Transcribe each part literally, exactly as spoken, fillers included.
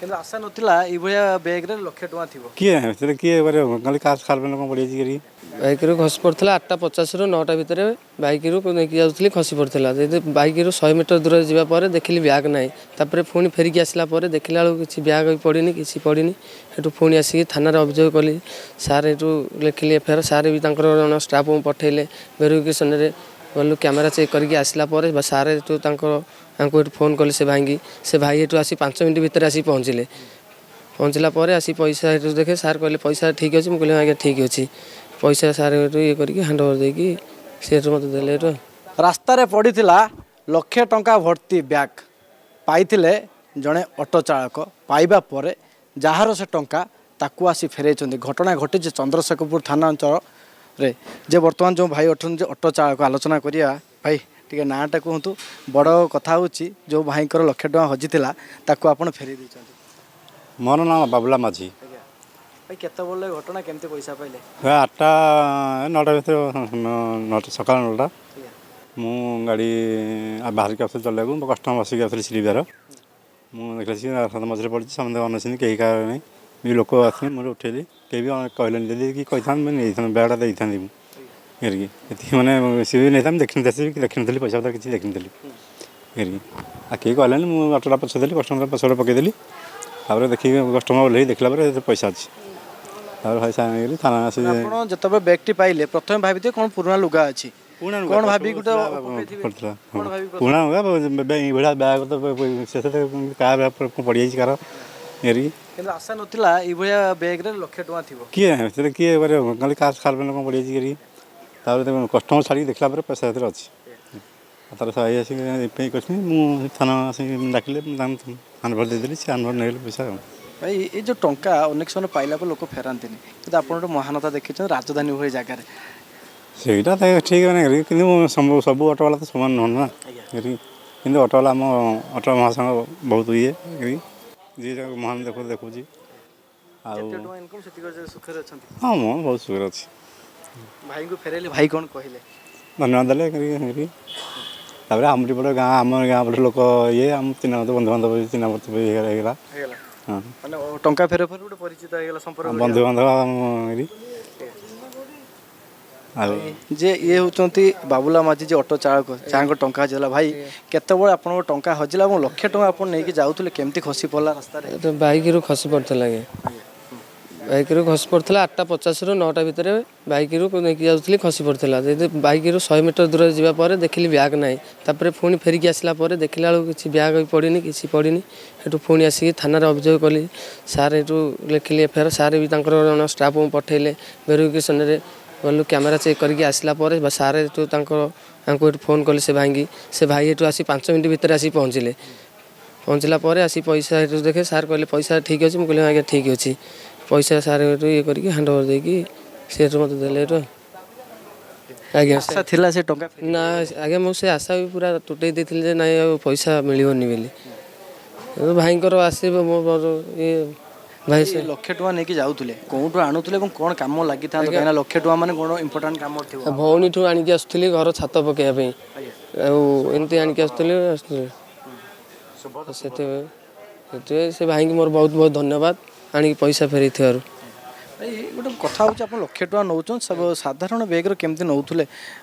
କିନ୍ତୁ ଆଶା ନଥିଲା ଏଇଭଳିଆ ବ୍ୟାଗ୍ରେ ଲକ୍ଷେ ଟଙ୍କା ଥିବ। କିଏ ସେଥିରେ କିଏ କରିବ? ଖାଲି କାଶ ଖାଲ କ'ଣ ପଡ଼ିଯାଇଛି କରି। ବାଇକ୍ରୁ ଖସି ପଡ଼ିଥିଲା ଆଠଟା ପଚାଶରୁ ନଅଟା ଭିତରେ। ବାଇକ୍ରୁ ନେଇକି ଯାଉଥିଲି, ଖସି ପଡ଼ିଥିଲା। ଯଦି ବାଇକ୍ରୁ ଶହେ ମିଟର ଦୂରରେ ଯିବା ପରେ ଦେଖିଲି ବ୍ୟାଗ୍ ନାହିଁ। ତାପରେ ପୁଣି ଫେରିକି ଆସିଲା ପରେ ଦେଖିଲା ବେଳକୁ କିଛି ବ୍ୟାଗ୍ ବି ପଡ଼ିନି, କିଛି ପଡ଼ିନି। ସେଠୁ ପୁଣି ଆସିକି ଥାନାରେ ଅଭିଯୋଗ କଲି। ସାର୍ ଏଠୁ ଲେଖିଲି ଏଫ୍ I R. Sir ବି ତାଙ୍କର ଜଣେ ଷ୍ଟାଫ୍ଙ୍କୁ ପଠେଇଲେ। ଭେରିଫିକେସନ୍ରେ ଗଲୁ, କ୍ୟାମେରା ଚେକ୍ କରିକି ଆସିଲା ପରେ ସାର୍ ଏଠୁ ତାଙ୍କର ତାଙ୍କୁ ଏଠୁ ଫୋନ୍ କଲେ ସେ ଭାଇଙ୍କି। ସେ ଭାଇ ଏଠୁ ଆସି ପାଞ୍ଚ ମିନିଟ୍ ଭିତରେ ଆସି ପହଞ୍ଚିଲେ। ପହଞ୍ଚିଲା ପରେ ଆସି ପଇସା ଏଠୁ ଦେଖେ ସାର୍ କହିଲେ ପଇସା ଠିକ୍ ଅଛି? ମୁଁ କହିଲି ଆଜ୍ଞା ଠିକ୍ ଅଛି ପଇସା। ସାର୍ ଏଠୁ ଇଏ କରିକି ହ୍ୟାଣ୍ଡ ଓଭର ଦେଇକି ସେ ଏଠୁ ମୋତେ ଦେଲେ ଏଠୁ। ରାସ୍ତାରେ ପଡ଼ିଥିଲା ଲକ୍ଷେ ଟଙ୍କା ଭର୍ତ୍ତି ବ୍ୟାଗ୍, ପାଇଥିଲେ ଜଣେ ଅଟୋ ଚାଳକ। ପାଇବା ପରେ ଯାହାର ସେ ଟଙ୍କା ତାକୁ ଆସି ଫେରାଇଛନ୍ତି। ଘଟଣା ଘଟିଛି ଚନ୍ଦ୍ରଶେଖରପୁର ଥାନା ଅଞ୍ଚଳରେ। ଯେ ବର୍ତ୍ତମାନ ଯେଉଁ ଭାଇ ଅଛନ୍ତି ଅଟୋ ଚାଳକ, ଆଲୋଚନା କରିବା। ଭାଇ, ଟିକେ ନାଁଟା କୁହନ୍ତୁ। ବଡ଼ କଥା ହେଉଛି ଯେଉଁ ଭାଇଙ୍କର ଲକ୍ଷେ ଟଙ୍କା ହଜିଥିଲା ତାକୁ ଆପଣ ଫେରାଇ ଦେଇଛନ୍ତି। ମୋର ନାଁ ବାବୁଲା ମାଝୀ। ଭାଇ, କେତେବେଳେ ଘଟଣା, କେମିତି ପଇସା ପାଇଲେ? ଆଠଟା ନଅଟା ଭିତରେ, ନଅଟା, ସକାଳ ନଅଟା। ମୁଁ ଗାଡ଼ି ବାହାରିକି ଆସୁଥିଲି ଚଲେଇବାକୁ, ମୋ କଷ୍ଟମର ବସିକି ଆସୁଥିଲି ଶ୍ରୀବିହାର। ମୁଁ ଦେଖିଲା ସେ ରାସ୍ତା ମଝିରେ ପଡ଼ିଛି, ସମସ୍ତେ ଅନେଇଛନ୍ତି, କେହି କାହାର ନାହିଁ ବି। ଲୋକ ଆସିଲେ ମୁଁ ଉଠେଇଲି, କେହି ବି କହିଲେନି। ଯଦି କି କହିଥାନ୍ତି ମୁଁ ନେଇଥାନ୍ତି, ବ୍ୟାଗ୍ଟା ଦେଇଥାନ୍ତି ମୁଁ କରିକି ଏତିକି। ମାନେ ସିଏ ବି ନେଇଥାନ୍ତି, ଦେଖିନଥିଲି କି ଦେଖିନଥିଲି, ପଇସା ପତ୍ର କିଛି ଦେଖିନଥିଲି କରିକି। ଆଉ କେହି କହିଲେନି। ମୁଁ ଅଟୋଟା ପଛେ ଦେଲି, କଷ୍ଟମର ପଛରେ ପକେଇଦେଲି। ତାପରେ ଦେଖିକି କଷ୍ଟମର ଓହ୍ଲେଇ ଦେଖିଲା ପରେ ପଇସା ଅଛି। ତାପରେ ପଇସା ନେଇଗଲି ଥାନା ଆସି। ଆପଣ ଯେତେବେଳେ ବ୍ୟାଗ୍ଟି ପାଇଲେ ପ୍ରଥମେ ଭାବିଥିବେ କ'ଣ ପୁରୁଣା ଲୁଗା ଅଛି, କ'ଣ ଭାବି ଗୋଟେ ପଡ଼ିଥିଲା ପୁରୁଣା ଲୁଗା ଏଇଭଳିଆ ବ୍ୟାଗ୍ ତ ଶେଷରେ କାହା ବ୍ୟାଗ୍ ପଡ଼ିଯାଇଛି କାହାର କରିକି। କିନ୍ତୁ ଆଶା ନଥିଲା ଏଇଭଳିଆ ବ୍ୟାଗ୍ରେ ଲକ୍ଷେ ଟଙ୍କା ଥିବ। କିଏ ସେଥିରେ କିଏ କରିବ? ଖାଲି କାଶ ଖାଲ କ'ଣ ପଡ଼ିଯାଇଛି କରିକି। ତାପରେ କଷ୍ଟମର ଛାଡ଼ିକି ଦେଖିଲା ପରେ ପଇସା ସେଥିରେ ଅଛି। ତାର ଭାଇ ଆସିକି ପେ କରିଛନ୍ତି। ମୁଁ ଥାନା ଆସିକି ଡାକିଲେ, ମୁଁ ତାଙ୍କୁ ହ୍ୟାଣ୍ଡଓଭର ଦେଇଦେଲି, ସେ ହ୍ୟାଣ୍ଡଓଭର ନେଇଗଲେ ପଇସା। ଆଉ ଭାଇ, ଏଇ ଯେଉଁ ଟଙ୍କା ଅନେକ ସମୟ ପାଇଲା ପରେ ଲୋକ ଫେରାନ୍ତିନି, କିନ୍ତୁ ଆପଣ ଗୋଟେ ମହାନତା ଦେଖିଛନ୍ତି ରାଜଧାନୀ ଭଳି ଜାଗାରେ। ସେଇଟା ତ ଠିକ୍ ମାନେ, କିନ୍ତୁ ସବୁ ଅଟୋବାଲା ତ ସମାନ ନୁହଁ ନା। କିନ୍ତୁ ଅଟୋବାଲା, ଆମ ଅଟୋ ମହାସଂଘ ବହୁତ ଇଏ, ଯିଏ ମହାନ ଦେଖୁ ଦେଖୁଛି। ଆଉ ସୁଖରେ ଅଛନ୍ତି? ହଁ, ମୁଁ ବହୁତ ସୁଖରେ ଅଛି। ଭାଇଙ୍କୁ ଫେରାଇଲେ, ଭାଇ କ'ଣ କହିଲେ? ଧନ୍ୟବାଦ ଦେଲେ। ତାପରେ ଆମରି ପଟେ ଗାଁ, ଆମ ଗାଁ ପଟେ ଲୋକ ଇଏ, ଆମ ଚିହ୍ନା ବନ୍ଧୁବାନ୍ଧବ, ଚିହ୍ନା ପରିଚୟ ହେଇଗଲା। ହଁ, ମାନେ ଟଙ୍କା ଫେର ଫେର ଗୋଟେ ପରିଚିତ ହେଇଗଲା ସମ୍ପର୍କ, ବନ୍ଧୁବାନ୍ଧବ। ଆଉ ଯେ ଇଏ ହେଉଛନ୍ତି ବାବୁଲା ମାଝୀ, ଯେ ଅଟୋ ଚାଳକ, ଯାହାଙ୍କ ଟଙ୍କା ହଜିଲା। ଭାଇ, କେତେବେଳେ ଆପଣଙ୍କ ଟଙ୍କା ହଜିଲା ଏବଂ ଲକ୍ଷେ ଟଙ୍କା ଆପଣ ନେଇକି ଯାଉଥିଲେ, କେମିତି ଖସି ପଡ଼ିଲା ରାସ୍ତାରେ? ବାଇକ୍ରୁ ଖସି ପଡ଼ିଥିଲା ଆଜ୍ଞା। ବାଇକ୍ରୁ ଖସି ପଡ଼ିଥିଲା ଆଠଟା ପଚାଶରୁ ନଅଟା ଭିତରେ। ବାଇକ୍ରୁ ନେଇକି ଯାଉଥିଲି, ଖସି ପଡ଼ିଥିଲା। ଯଦି ବାଇକ୍ରୁ ଶହେ ମିଟର ଦୂରରେ ଯିବା ପରେ ଦେଖିଲି ବ୍ୟାଗ୍ ନାହିଁ। ତାପରେ ପୁଣି ଫେରିକି ଆସିଲା ପରେ ଦେଖିଲା ବେଳକୁ କିଛି ବ୍ୟାଗ୍ ବି ପଡ଼ିନି, କିଛି ପଡ଼ିନି। ସେଠୁ ପୁଣି ଆସିକି ଥାନାରେ ଅଭିଯୋଗ କଲି। ସାର୍ ଏଠୁ ଲେଖିଲି ଏଫ୍ I R. Sir ବି ତାଙ୍କର ଜଣେ ଷ୍ଟାଫ୍ଙ୍କୁ ପଠେଇଲେ। ଭେରିଫିକେସନ୍ରେ ଗଲୁ, କ୍ୟାମେରା ଚେକ୍ କରିକି ଆସିଲା ପରେ ସାର୍ ଏଠୁ ତାଙ୍କର ତାଙ୍କୁ ଏଠୁ ଫୋନ୍ କଲେ ସେ ଭାଇଙ୍କି। ସେ ଭାଇ ଏଠୁ ଆସି ପାଞ୍ଚ ମିନିଟ୍ ଭିତରେ ଆସି ପହଞ୍ଚିଲେ। ପହଞ୍ଚିଲା ପରେ ଆସି ପଇସା ଏଠୁ ଦେଖେ ସାର୍ କହିଲେ ପଇସା ଠିକ୍ ଅଛି? ମୁଁ କହିଲି ଆଜ୍ଞା ଠିକ୍ ଅଛି ପଇସା। ସାର୍ ଏଠୁ ଇଏ କରିକି ହ୍ୟାଣ୍ଡ ଓଭର ଦେଇକି ସେ ଏଠୁ ମୋତେ ଦେଲେ ଏଠୁ। ଆଜ୍ଞା, ଆଶା ଥିଲା ସେ ଟଙ୍କା? ନା ଆଜ୍ଞା, ମୁଁ ସେ ଆଶା ବି ପୁରା ତୁଟେଇ ଦେଇଥିଲି ଯେ ନାଇଁ ଆଉ ପଇସା ମିଳିବନି ବୋଲି। ଭାଇଙ୍କର ଆସିବ ମୋ ଇଏ ଭାଇ, ସେ ଲକ୍ଷେ ଟଙ୍କା ନେଇକି ଯାଉଥିଲେ, କେଉଁଠୁ ଆଣୁଥିଲେ ଏବଂ କ'ଣ କାମ ଲାଗିଥାନ୍ତା? କାହିଁକିନା ଲକ୍ଷେ ଟଙ୍କା ମାନେ କ'ଣ ଇମ୍ପୋର୍ଟାଣ୍ଟ କାମ ଥିବ। ଭଉଣୀଠୁ ଆଣିକି ଆସୁଥିଲି ଘର ଛାତ ପକାଇବା ପାଇଁ, ଆଉ ଏମିତି ଆଣିକି ଆସୁଥିଲି ଆସୁଥିଲି ସେଥିପାଇଁ ସେଥିପାଇଁ ସେ ଭାଇଙ୍କୁ ମୋର ବହୁତ ବହୁତ ଧନ୍ୟବାଦ ଆଣିକି ପଇସା ଫେରେଇଥିବାରୁ। ଗୋଟେ କଥା ହେଉଛି, ଆପଣ ଲକ୍ଷେ ଟଙ୍କା ନେଉଛନ୍ତି, ସାଧାରଣ ବ୍ୟାଗ୍ରେ କେମିତି ନେଉଥିଲେ?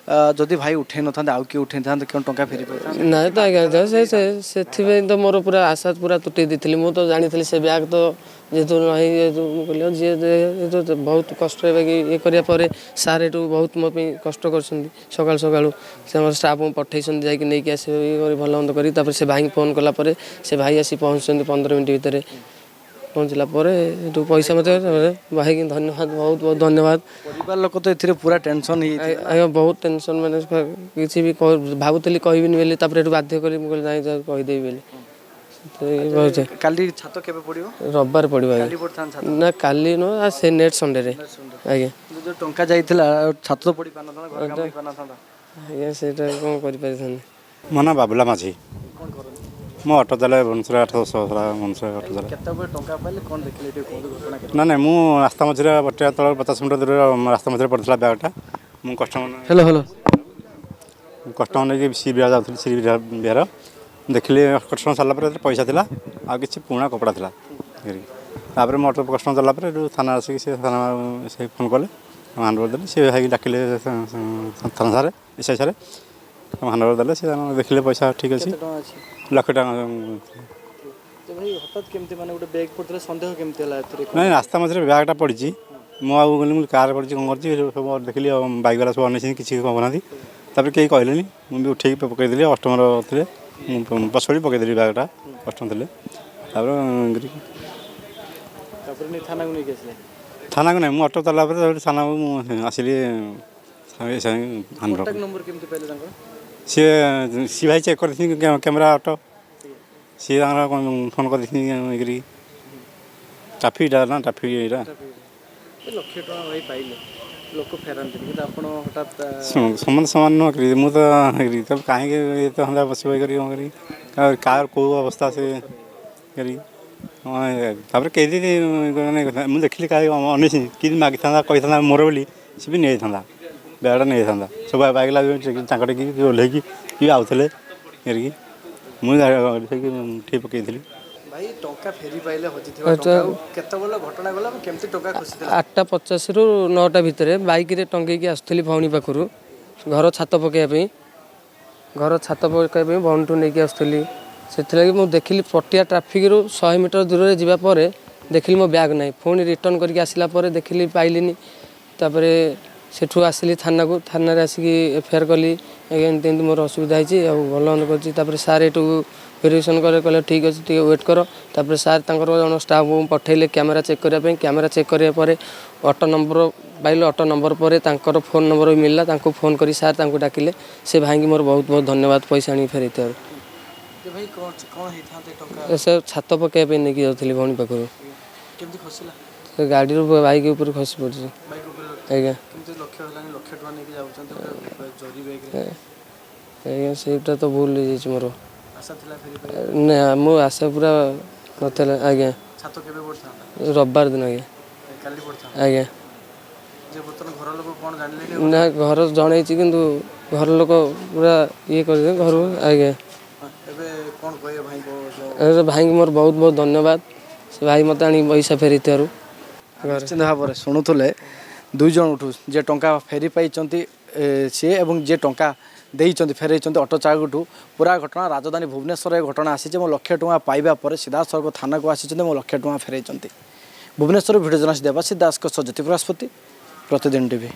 ଯଦି ଭାଇ ଉଠେଇ ନଥାନ୍ତେ ଆଉ କିଏ ଉଠେଇଥାନ୍ତେ, କେଉଁ ଟଙ୍କା ଫେରି ପାଇଥାନ୍ତେ? ନାଇଁ ତ ଆଜ୍ଞା, ସେ ସେଥିପାଇଁ ତ ମୋର ପୁରା ଆଶା ପୁରା ତୁଟେଇ ଦେଇଥିଲି। ମୁଁ ତ ଜାଣିଥିଲି ସେ ବ୍ୟାଗ୍ ତ ଯେହେତୁ ନାହିଁ, ଯେହେତୁ ମୁଁ କହିଲି ଯିଏ ବହୁତ କଷ୍ଟ ହେବେ। ଇଏ କରିବା ପରେ ସାର୍ ଏଠୁ ବହୁତ ମୋ ପାଇଁ କଷ୍ଟ କରିଛନ୍ତି। ସକାଳୁ ସକାଳୁ ସେ ଆମର ଷ୍ଟାଫ୍ଙ୍କୁ ପଠେଇଛନ୍ତି ଯାଇକି ନେଇକି ଆସିବେ, ଇଏ କରି ଭଲ ମନ୍ଦ କରି। ତାପରେ ସେ ଭାଇଙ୍କୁ ଫୋନ୍ କଲା ପରେ ସେ ଭାଇ ଆସି ପହଞ୍ଚୁଛନ୍ତି ପନ୍ଦର ମିନିଟ୍ ଭିତରେ। ପହଞ୍ଚିଲା ପରେ ଏଠୁ ପଇସା ମୋତେ, ଭାଇକି ଧନ୍ୟବାଦ, ବହୁତ ବହୁତ ଧନ୍ୟବାଦ। ପରିବାର ଲୋକ ତ ଏଥିରେ ପୁରା ଟେନସନ୍ ହେଇଯାଇଥିବେ? ଆଜ୍ଞା, ବହୁତ ଟେନସନ୍। ମାନେ କିଛି ବି ଭାବୁଥିଲି କହିବିନି ବୋଲି, ତାପରେ ଏଠୁ ବାଧ୍ୟ କରି ମୁଁ କହିଲି ନାଇଁ କହିଦେବି ବୋଲି। କାଲି ଛାତ କେବେ ପଡ଼ିବ? ରବିବାର ପଡ଼ିବ ଆଜ୍ଞା। ନା, କାଲି ନୁହଁ, ସେ ନେକ୍ସଟ ସଣ୍ଡେରେ ଆଜ୍ଞା। ଯେଉଁ ଟଙ୍କା ଯାଇଥିଲା ଛାତ ତ ପଡ଼ି ପାରିନଥାନ୍ତା? ଆଜ୍ଞା, ସେଇଟା କ'ଣ କରିପାରିଥାନ୍ତି। ମୋ ନାଁ ବାବୁଲା ମାଝୀ। କ'ଣ କରନ୍ତି? ମୁଁ ଅଟୋ ଚଲାଏ ଭୁବନେଶ୍ୱର, ଆଠ ଦଶ ବର୍ଷ ହେଲା ଭୁବନେଶ୍ୱର ଅଟୋ ଚଲାଏ। କେତେବେଳେ ଟଙ୍କା ପାଇଲେ, କ'ଣ ଦେଖିଲେ, ଟିକେ କୁହନ୍ତୁ ଘଟଣା? ନା ନାଇଁ, ମୁଁ ରାସ୍ତା ମଝିରେ ବଟିଆ ତଳ ପଚାଶ ମିଟର ଦୂରରେ ରାସ୍ତା ମଝିରେ ପଡ଼ିଥିଲା ବ୍ୟାଗ୍ଟା। ମୁଁ କଷ୍ଟମର, ହ୍ୟାଲୋ ହ୍ୟାଲୋ, କଷ୍ଟମର ନେଇକି ଶ୍ରୀ ବିହାର ଯାଉଥିଲି। ଶ୍ରୀ ବିହାର ଦେଖିଲି, କଷ୍ଟମର ସାରିଲା ପରେ ପଇସା ଥିଲା ଆଉ କିଛି ପୁରୁଣା କପଡ଼ା ଥିଲା। ତାପରେ ମୁଁ ଅଟୋ କଷ୍ଟମର ଦେଲା ପରେ ଏଠୁ ଥାନା ଆସିକି ସେ ଥାନା ସେ ଫୋନ୍ କଲେ, ହ୍ୟାଣ୍ଡ ଓଭର ଦେଲେ। ସେ ଭାଇକି ଡାକିଲେ ଥାନା ସାରେ, ଏସ୍ I ସାରେ ହ୍ୟାଣ୍ଡ ଓଭର ଦେଲେ। ସେ ଦେଖିଲେ ପଇସା ଠିକ୍ ଅଛି, ଲକ୍ଷେ ଟଙ୍କା। ଭାଇ ହଠାତ୍ କେମିତି ମାନେ ଗୋଟେ ବ୍ୟାଗ୍ ପଡ଼ିଥିଲା, ସନ୍ଦେହ କେମିତି ହେଲା ଏଥିରେ? ନାଇଁ, ରାସ୍ତା ମଝିରେ ବ୍ୟାଗ୍ଟା ପଡ଼ିଛି। ମୁଁ ଆଉ ଗଲି, ମୁଁ କାର୍ ପଡ଼ିଛି କ'ଣ କରିଛି ସବୁ ଦେଖିଲି, ବାଇକ୍ ବାଲା ସବୁ ଅନେଇଛନ୍ତି, କିଛି କହୁନାହାନ୍ତି। ତାପରେ କେହି କହିଲେନି, ମୁଁ ବି ଉଠେଇକି ପକେଇଦେଲି। କଷ୍ଟମର ଥିଲେ, ମୁଁ ପଛଡ଼ି ପକେଇଦେଲି ବ୍ୟାଗ୍ଟା, କଷ୍ଟମର ଥିଲେ। ତାପରେ ତାପରେ ଥାନାକୁ ନେଇକି ଆସିଲେ? ଥାନାକୁ ନାହିଁ, ମୁଁ ଅଟୋ ଚଲାଲା ପରେ ତାପରେ ଥାନାକୁ ମୁଁ ଆସିଲି। ନମ୍ବର କେମିତି ପାଇଲେ ତାଙ୍କର? ସିଏ ସିଏ ଭାଇ ଚେକ୍ କରିଥିଲେ କ୍ୟାମେରା ଅଟୋ, ସିଏ ତାଙ୍କର ଫୋନ୍ କରିଦେଇଛନ୍ତି ଇଏ ଟ୍ରାଫିକ୍ଟା ନା ଟ୍ରାଫିକ୍ ଏଇଟା। ଲକ୍ଷେ ଟଙ୍କା ଭାଇ ପାଇଲେ, ଲୋକ ଫେରାନ୍ତିନି, କିନ୍ତୁ ଆପଣ ହଠାତ୍? ଶୁଣନ୍ତୁ, ସମସ୍ତେ ସମାନ ନୁହଁ କି? ମୁଁ ତ କାହିଁକି ଏତେ ଧନ୍ଦା ବସିବ କରି କ'ଣ କରିବି, କାହାର କେଉଁ ଅବସ୍ଥା ସେ କରିକି। ତାପରେ କେହି ମାନେ ମୁଁ ଦେଖିଲି କାହା ଅନେଇଛି କି ମାଗିଥାନ୍ତା, କହିଥାନ୍ତା ମୋର ବୋଲି, ସେ ବି ନେଇଯାଇଥାନ୍ତା, ବ୍ୟାଗ୍ଟା ନେଇଯାଇଥାନ୍ତା। ସବୁ ବାଇକ୍ ତାଙ୍କ କି ଓହ୍ଲେଇକି କି ଆଉଥିଲେ କରିକି, ମୁଁ ଠିକ୍ ପକେଇଥିଲି। ଭାଇ ଟଙ୍କା ଫେରି ପାଇଲେ, ହଜିଥିବା ଟଙ୍କା, କେତେବେଳେ ଘଟଣା ଗଲା, କେମିତି ଟଙ୍କା ଖସିଥିଲା? ଆଠଟା ପଚାଶରୁ ନଅଟା ଭିତରେ ବାଇକ୍ରେ ଟଙ୍ଗେଇକି ଆସୁଥିଲି ଭଉଣୀ ପାଖରୁ ଘର ଛାତ ପକାଇବା ପାଇଁ। ଘର ଛାତ ପକାଇବା ପାଇଁ ଭଉଣୀଠୁ ନେଇକି ଆସୁଥିଲି। ସେଥିଲାଗି ମୁଁ ଦେଖିଲି ପଟିଆ ଟ୍ରାଫିକ୍ରୁ ଶହେ ମିଟର ଦୂରରେ ଯିବା ପରେ ଦେଖିଲି ମୋ ବ୍ୟାଗ୍ ନାହିଁ। ପୁଣି ରିଟର୍ଣ୍ଣ କରିକି ଆସିଲା ପରେ ଦେଖିଲି ପାଇଲିନି। ତାପରେ ସେଠୁ ଆସିଲି ଥାନାକୁ, ଥାନାରେ ଆସିକି ଏଫ୍ I R କଲି, ଆଜ୍ଞା ଏମିତି ଏମିତି ମୋର ଅସୁବିଧା ହେଇଛି ଆଉ ଭଲ ମନ୍ଦ କରିଛି। ତାପରେ ସାର୍ ଏଠୁ ଭେରିଫିକେସନ୍ କଲେ, କହିଲେ ଠିକ୍ ଅଛି, ଟିକେ ୱେଟ୍ କର। ତାପରେ ସାର୍ ତାଙ୍କର ଜଣ ଷ୍ଟାଫ୍ଙ୍କୁ ପଠେଇଲେ କ୍ୟାମେରା ଚେକ୍ କରିବା ପାଇଁ। କ୍ୟାମେରା ଚେକ୍ କରିବା ପରେ ଅଟୋ ନମ୍ବର ପାଇଲେ। ଅଟୋ ନମ୍ବର ପରେ ତାଙ୍କର ଫୋନ୍ ନମ୍ବର ବି ମିଳିଲା। ତାଙ୍କୁ ଫୋନ୍ କରି ସାର୍ ତାଙ୍କୁ ଡାକିଲେ। ସେ ଭାଇଙ୍କୁ ମୋର ବହୁତ ବହୁତ ଧନ୍ୟବାଦ ପଇସା ଆଣିକି ଫେରେଇଥିବାରୁ। ସେ ଛାତ ପକାଇବା ପାଇଁ ନେଇକି ଯାଉଥିଲି ଭଉଣୀ ପାଖରୁ, ସେ ଗାଡ଼ିରୁ ବାଇକ୍ ଉପରେ ଖସି ପଡ଼ିଛି ଆଜ୍ଞା। ଆଜ୍ଞା ସେଇଟା ତ ଭୁଲ ହେଇଯାଇଛି ମୋର, ନା ମୋ ଆଶା ପୁରା ନଥିଲା ଆଜ୍ଞା। ରବିବାର ଦିନ ଆଜ୍ଞା। ଆଜ୍ଞା ନା, ଘର ଜଣେଇଛି, କିନ୍ତୁ ଘର ଲୋକ ପୁରା ଇଏ କରିଦେବେ ଘରୁ ଆଜ୍ଞା। ଭାଇଙ୍କୁ ମୋର ବହୁତ ବହୁତ ଧନ୍ୟବାଦ, ସେ ଭାଇ ମୋତେ ଆଣିକି ପଇସା ଫେରେଇଥିବାରୁ। ନିଶ୍ଚିନ୍ତ ଭାବରେ ଶୁଣୁଥିଲେ ଦୁଇ ଜଣଠୁ, ଯିଏ ଟଙ୍କା ଫେରି ପାଇଛନ୍ତି ସିଏ ଏବଂ ଯିଏ ଟଙ୍କା ଦେଇଛନ୍ତି ଫେରାଇଛନ୍ତି ଅଟୋ ଚାଳକଠୁ। ପୁରା ଘଟଣା ରାଜଧାନୀ ଭୁବନେଶ୍ୱରରେ ଘଟଣା ଆସିଛି ଏବଂ ଲକ୍ଷେ ଟଙ୍କା ପାଇବା ପରେ ସିଧାସଳଖ ଥାନାକୁ ଆସିଛନ୍ତି ଏବଂ ଲକ୍ଷେ ଟଙ୍କା ଫେରାଇଛନ୍ତି। ଭୁବନେଶ୍ୱର ଭିଡ଼ିଓ ଜର୍ଣ୍ଣାଲିଷ୍ଟ ଦେବାଶିଷ ଦାସଙ୍କ ସହ ଜ୍ୟୋତିପ୍ରକାଶ ପତି, ପ୍ରତିଦିନ ଟିଭି।